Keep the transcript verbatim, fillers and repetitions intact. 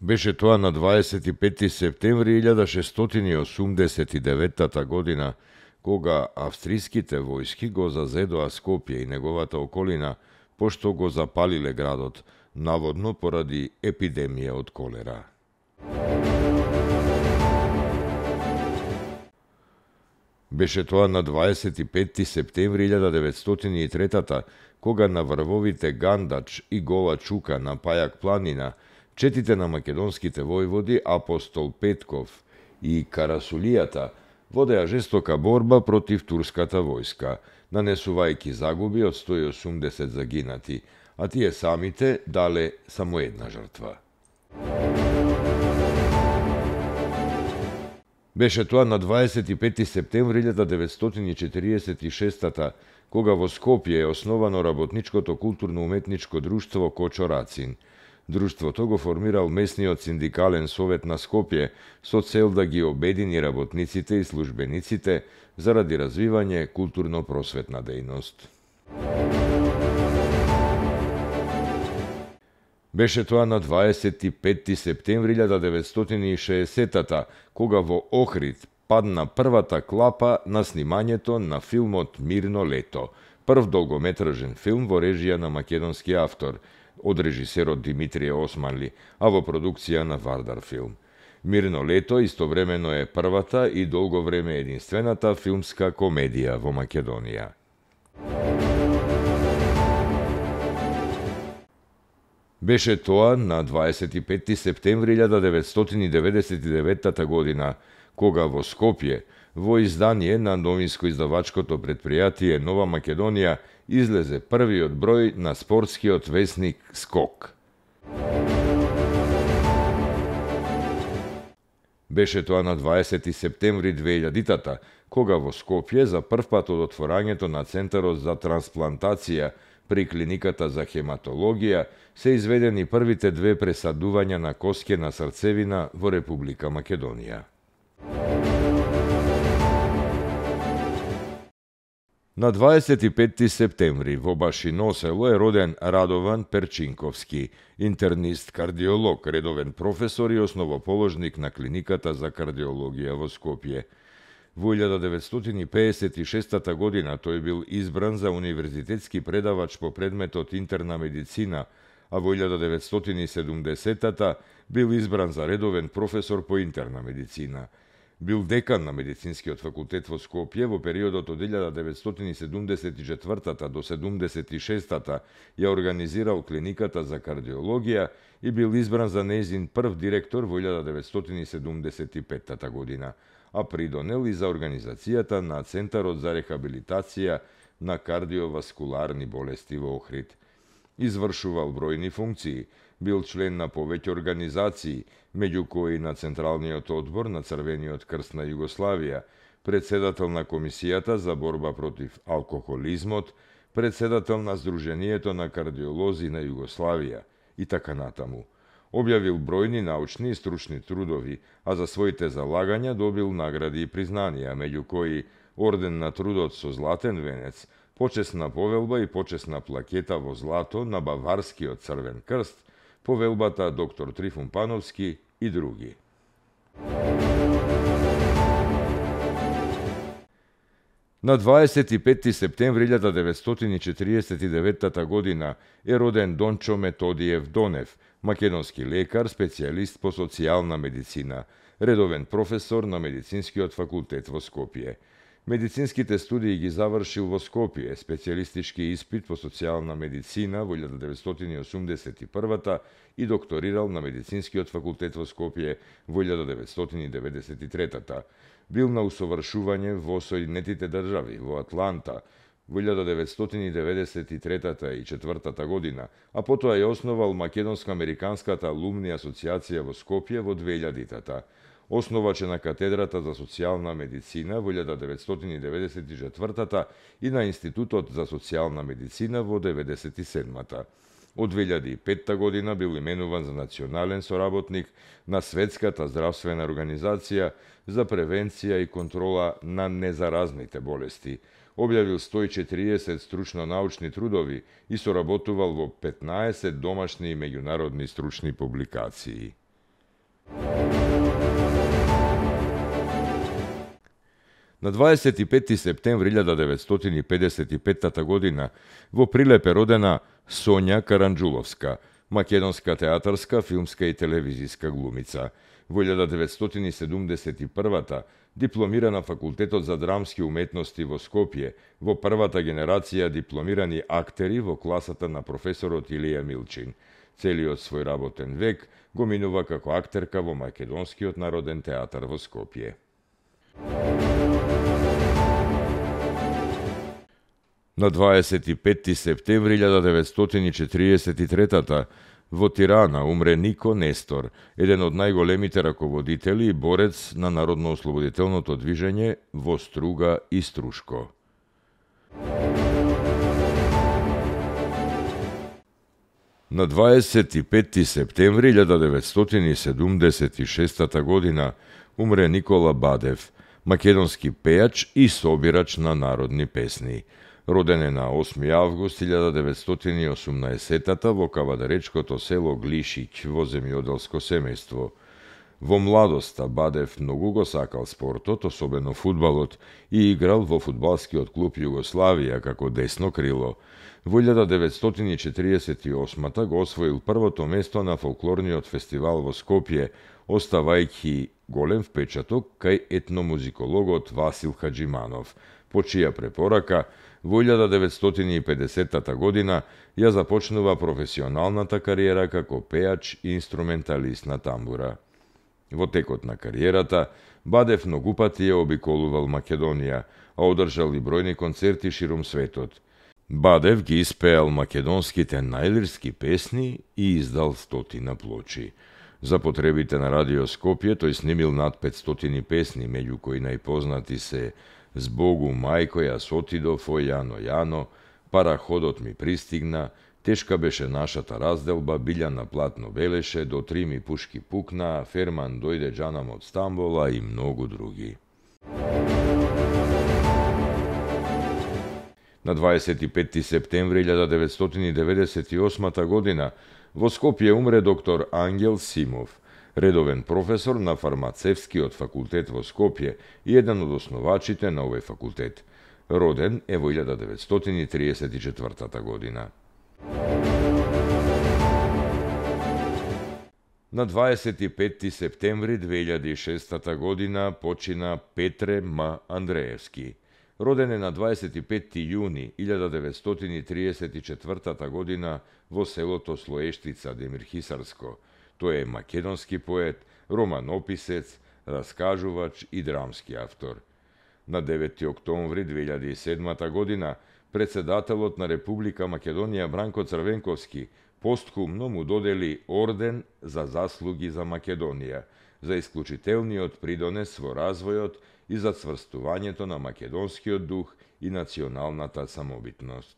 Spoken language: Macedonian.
Беше тоа на дваесет и петти септември илјада шестстотини и осумдесет и деветта година, кога австриските војски го зазедоа Скопје и неговата околина, пошто го запалиле градот, наводно поради епидемија од колера. Беше тоа на дваесет и петти септември илјада деветстотини и трета, кога на врвовите Гандач и Гола Чука на Пајак планина, четите на македонските војводи Апостол Петков и Карасулијата водеа жестока борба против турската војска, нанесувајќи загуби од сто и осумдесет загинати, а тие самите дале само една жртва. Беше тоа на дваесет и петти септември илјада деветстотини и четириесет и шеста, кога во Скопје е основано работничкото културно-уметничко друштво Кочо Рацин. Друштвото го формирал местниот синдикален совет на Скопје со цел да ги обедини работниците и службениците заради развивање културно-просветна дејност. Беше тоа на дваесет и петти септември илјада деветстотини и шеесета, кога во Охрид падна првата клапа на снимањето на филмот Мирно лето, прв долгометражен филм во режија на македонски автор, од режисерот Димитрije Османли, а во продукција на Вардар филм. Мирно лето истовремено е првата и долго време единствената филмска комедија во Македонија. Беше тоа на дваесет и петти септември илјада деветстотини деветдесет и деветта година, кога во Скопје, во издание на новинско-издавачкото предпријатие Нова Македонија, излезе првиот број на спортскиот весник Скок. Беше тоа на дваесети септември две илјадитата, кога во Скопје за првпат од отворањето на Центарот за трансплантација при клиниката за хематологија се изведени првите две пресадувања на коскена срцевина во Република Македонија. На дваесет и петти септември во Башино село е роден Радован Перчинковски, интернист, кардиолог, редовен професор и основоположник на клиниката за кардиологија во Скопје. Во илјада деветстотини пеесет и шеста година тој бил избран за универзитетски предавач по предметот интерна медицина, а во илјада деветстотини и седумдесета бил избран за редовен професор по интерна медицина. Бил декан на Медицинскиот факултет во Скопје во периодот од илјада деветстотини седумдесет и четвртата до седумдесет и шестата, ја организирал клиниката за кардиологија и бил избран за нејзин прв директор во илјада деветстотини седумдесет и петта година, а придонел и за организацијата на Центарот за рехабилитација на кардиоваскуларни болести во Охрид. Извршувал бројни функции, бил член на повеќе организации, меѓу кои на Централниот одбор на Црвениот крст на Југославија, председател на Комисијата за борба против алкохолизмот, председател на Сдруженијето на кардиолози на Југославија и така натаму. Објавил бројни научни и стручни трудови, а за своите залагања добил награди и признанија, меѓу кои Орден на трудот со златен венец, почесна повелба и почесна плакета во злато на Баварскиот црвен крст, повелбата доктор Трифун Пановски и други. На дваесет и петти септември илјада деветстотини и четириесет и деветта година е роден Дончо Методиев Донев, македонски лекар, специјалист по социјална медицина, редовен професор на Медицинскиот факултет во Скопје. Медицинските студии ги завршил во Скопје, специјалистички испит по социјална медицина во илјада деветстотини и осумдесет и првата и докторирал на Медицинскиот факултет во Скопје во илјада деветстотини и деветдесет и третата. Бил на усовршување во Соединетите држави, во Атланта, во илјада деветстотини и деветдесет и трета и четвртата година, а потоа ја основал Македонско-американската алумни асоцијација во Скопје во две илјадитата. Основач е на катедрата за социјална медицина во илјада деветстотини и деветдесет и четвртата и на Институтот за социјална медицина во деветдесет и седмата. Од две илјади и петта година бил именуван за национален соработник на Светската здравствена организација за превенција и контрола на незаразните болести. Објавил сто и четириесет стручно-научни трудови и соработувал во петнаесет домашни и меѓународни стручни публикации. На дваесет и петти септември илјада деветстотини педесет и петта година во Прилеп е родена Сонја Каранџуловска, македонска театарска, филмска и телевизиска глумица. Во илјада деветстотини седумдесет и прва дипломира на Факултетот за драмски уметности во Скопје, во првата генерација дипломирани актери во класата на професорот Илија Милчин. Целиот свој работен век го минува како актерка во Македонскиот народен театар во Скопје. На дваесет и петти септември илјада деветстотини четириесет и трета во Тирана умре Нико Нестор, еден од најголемите раководители и борец на народно-ослободителното движење во Струга и Струшко. На дваесет и петти септември илјада деветстотини седумдесет и шеста година умре Никола Бадев, македонски пејач и собирач на народни песни. Роден е на осми август илјада деветстотини и осумнаесетта во кавадаречкото село Глишиќ во земјоделско семејство. Во младоста Бадев многу го сакал спортот, особено фудбалот, и играл во фудбалскиот клуб Југославија како десно крило. Во илјада деветстотини и четириесет и осма го освоил првото место на фолклорниот фестивал во Скопје, оставајќи голем впечаток кај етномузикологот Васил Хаџиманов, по чија препорака во илјада деветстотини и педесетта година ја започнува професионалната кариера како пејач и инструменталист на тамбура. Во текот на кариерата, Бадев многу пати ја обиколувал Македонија, а одржал и бројни концерти ширум светот. Бадев ги испеал македонските најлирски песни и издал стотина плочи. За потребите на Радио Скопје тој снимил над петстотини песни, меѓу кои најпознати се Збогу мајко јас отидов, о Јано Јано, Параходот ми пристигна, Тешка беше нашата разделба, Билја на платно белеше, До три ми пушки пукна, Ферман дојде џанам од Стамбола и многу други. На дваесет и петти септември илјада деветстотини деветдесет и осма година во Скопје умре доктор Ангел Симов, редовен професор на фармацевскиот факултет во Скопје и еден од основачите на овој факултет. Роден е во илјада деветстотини триесет и четврта година. На дваесет и петти септември две илјади и шеста година почина Петре М. Андреевски. Роден е на дваесет и петти јуни илјада деветстотини триесет и четврта година во селото Слоештица, Демирхисарско. Тој е македонски поет, романописец, раскажувач и драмски автор. На деветти октомври две илјади и седма година председателот на Република Македонија Бранко Црвенковски постхумно му додели орден за заслуги за Македонија, за исклучителниот придонес во развојот и за цврстувањето на македонскиот дух и националната самобитност.